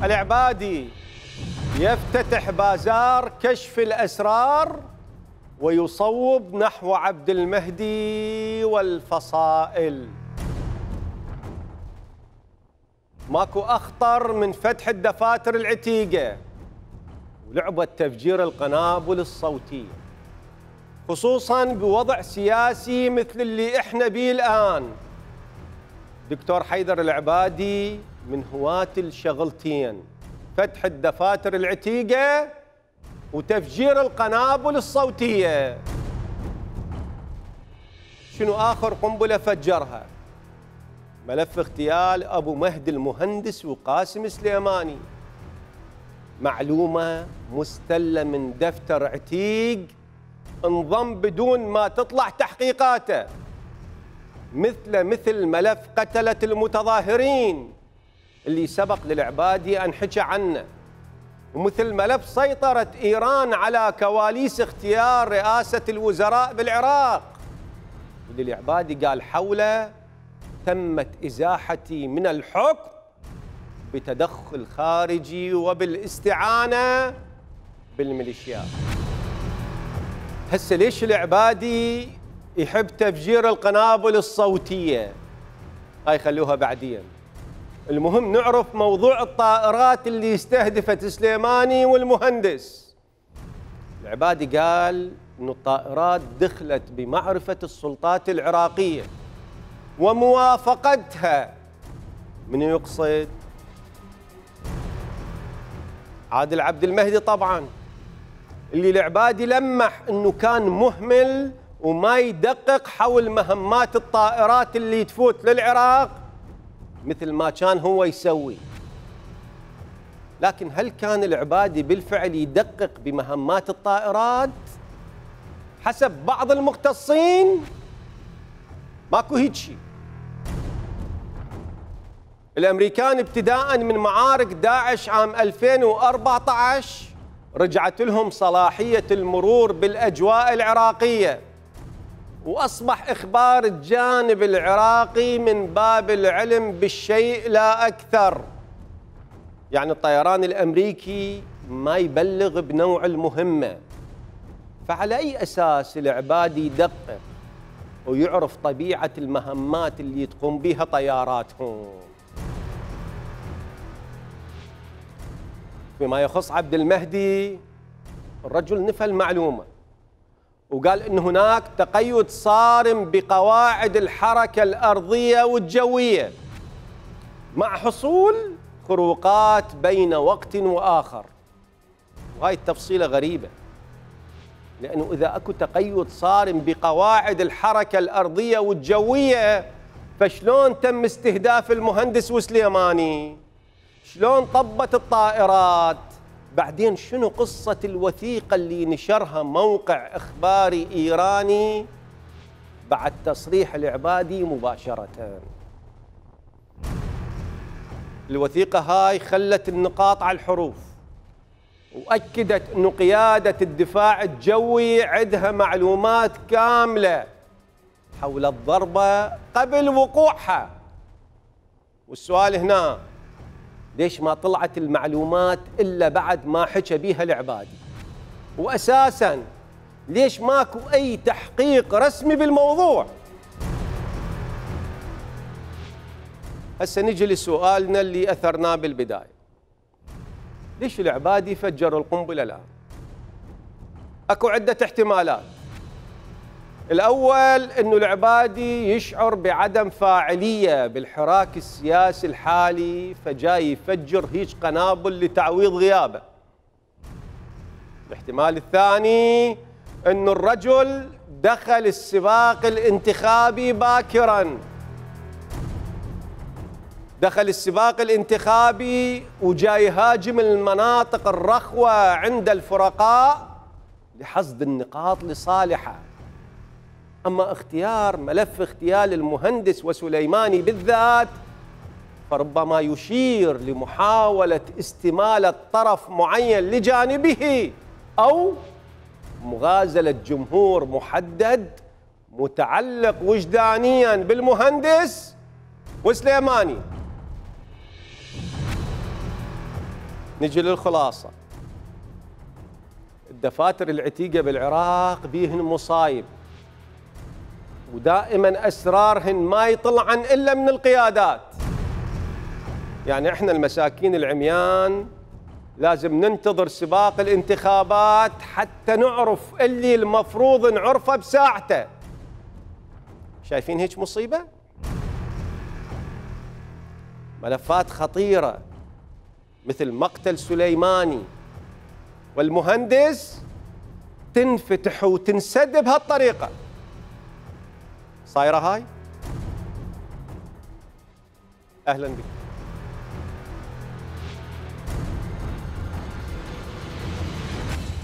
العبادي يفتتح بازار كشف الأسرار ويصوب نحو عبد المهدي والفصائل. ماكو أخطر من فتح الدفاتر العتيقة ولعبة تفجير القنابل الصوتية، خصوصاً بوضع سياسي مثل اللي احنا بيه الآن. دكتور حيدر العبادي من هواة الشغلتين، فتح الدفاتر العتيقة وتفجير القنابل الصوتية. شنو آخر قنبلة فجرها؟ ملف اغتيال أبو مهدي المهندس وقاسم سليماني، معلومة مستلة من دفتر عتيق انضم بدون ما تطلع تحقيقاته، مثل ملف قتلة المتظاهرين اللي سبق للعبادي أن حكى عنه، ومثل ملف سيطرة إيران على كواليس اختيار رئاسة الوزراء بالعراق، واللي العبادي قال حوله تمت إزاحتي من الحكم بتدخل خارجي وبالاستعانة بالميليشيات. هسه ليش العبادي يحب تفجير القنابل الصوتية؟ هاي خلوها بعدين. المهم نعرف موضوع الطائرات اللي استهدفت سليماني والمهندس. العبادي قال إنه الطائرات دخلت بمعرفة السلطات العراقية وموافقتها. من يقصد؟ عادل عبد المهدي طبعاً، اللي العبادي لمح إنه كان مهمل وما يدقق حول مهمات الطائرات اللي تفوت للعراق مثل ما كان هو يسوي. لكن هل كان العبادي بالفعل يدقق بمهمات الطائرات؟ حسب بعض المختصين ماكو هيك شيء. الأمريكان ابتداء من معارك داعش عام 2014 رجعت لهم صلاحية المرور بالأجواء العراقية، وأصبح إخبار الجانب العراقي من باب العلم بالشيء لا أكثر. يعني الطيران الأمريكي ما يبلغ بنوع المهمة، فعلى أي أساس العبادي يدقق ويعرف طبيعة المهمات اللي تقوم بها طياراتهم؟ فيما يخص عبد المهدي، الرجل نفى المعلومة وقال إن هناك تقيد صارم بقواعد الحركة الأرضية والجوية مع حصول خروقات بين وقت وآخر. وهاي التفصيلة غريبة، لأنه إذا أكو تقيد صارم بقواعد الحركة الأرضية والجوية فشلون تم استهداف المهندس وسليماني؟ شلون طبت الطائرات؟ بعدين شنو قصة الوثيقة اللي نشرها موقع إخباري إيراني بعد تصريح العبادي مباشرة؟ الوثيقة هاي خلت النقاط على الحروف وأكدت أنه قيادة الدفاع الجوي عندها معلومات كاملة حول الضربة قبل وقوعها. والسؤال هنا، ليش ما طلعت المعلومات إلا بعد ما حكى بيها العبادي؟ وأساساً ليش ماكو أي تحقيق رسمي بالموضوع؟ هسه نجي لسؤالنا اللي أثرناه بالبداية، ليش العبادي فجر القنبلة الآن؟ أكو عدة احتمالات. الأول أنه العبادي يشعر بعدم فاعلية بالحراك السياسي الحالي فجاي يفجر هيج قنابل لتعويض غيابه. الاحتمال الثاني أنه الرجل دخل السباق الانتخابي باكراً، دخل السباق الانتخابي وجاي يهاجم المناطق الرخوة عند الفرقاء لحصد النقاط لصالحه. أما اختيار ملف اغتيال المهندس وسليماني بالذات فربما يشير لمحاولة استمالة طرف معين لجانبه أو مغازلة جمهور محدد متعلق وجدانيا بالمهندس وسليماني. نجي للخلاصة. الدفاتر العتيقة بالعراق بيهن مصايب، ودائما أسرارهن ما يطلعن إلا من القيادات. يعني إحنا المساكين العميان لازم ننتظر سباق الانتخابات حتى نعرف اللي المفروض نعرفه بساعته. شايفين هيك مصيبة؟ ملفات خطيرة مثل مقتل سليماني والمهندس تنفتح وتنسد بهالطريقة. صايرة هاي؟ أهلا بك.